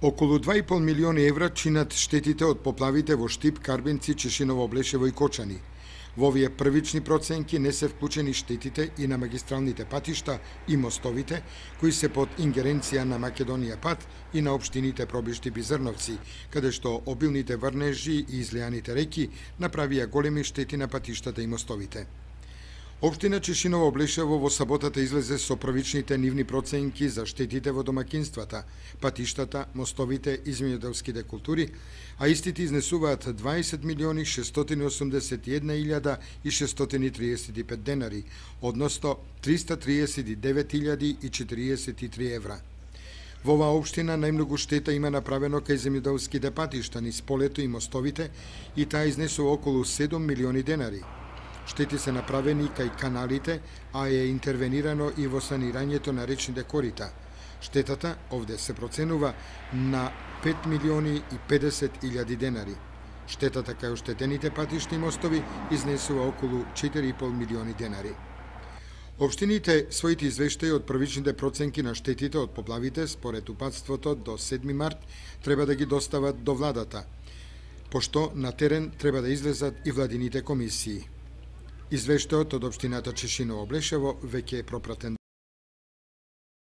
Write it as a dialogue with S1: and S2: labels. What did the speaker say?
S1: Околу 2,5 милиони евра чинат штетите од поплавите во Штип, Карбинци, Чешиново, Облешево и Кочани. Во овие првични проценки не се вклучени штетите и на магистралните патишта и мостовите, кои се под ингеренција на Македонија пат и на општините Пробиштип и Зрновци, каде што обилните врнежи и излијаните реки направија големи штети на патиштата и мостовите. Општина Чешиново, Облешево во саботата излезе со првичните нивни проценки за штетите во домакинствата, патиштата, мостовите и земјоделските култури, а истите изнесуваат 20.681.635 денари, односно 339.043 евра. Во оваа општина најмногу штета има направено кај земјоделските патишта низ полето и мостовите и таа изнесува околу 7 милиони денари. Штети се направени кај каналите, а е интервенирано и во санирањето на речните корита. Штетата овде се проценува на 5.050.000 денари. Штетата кај оштетените патишти и мостови изнесува околу 4,5 милиони денари. Општините своите извештаи од првичните проценки на штетите од поплавите според упатството до 7 март треба да ги достават до владата, пошто на терен треба да излезат и владините комисии. Извештајот од општината Чешиново, Облешево веќе е пропратен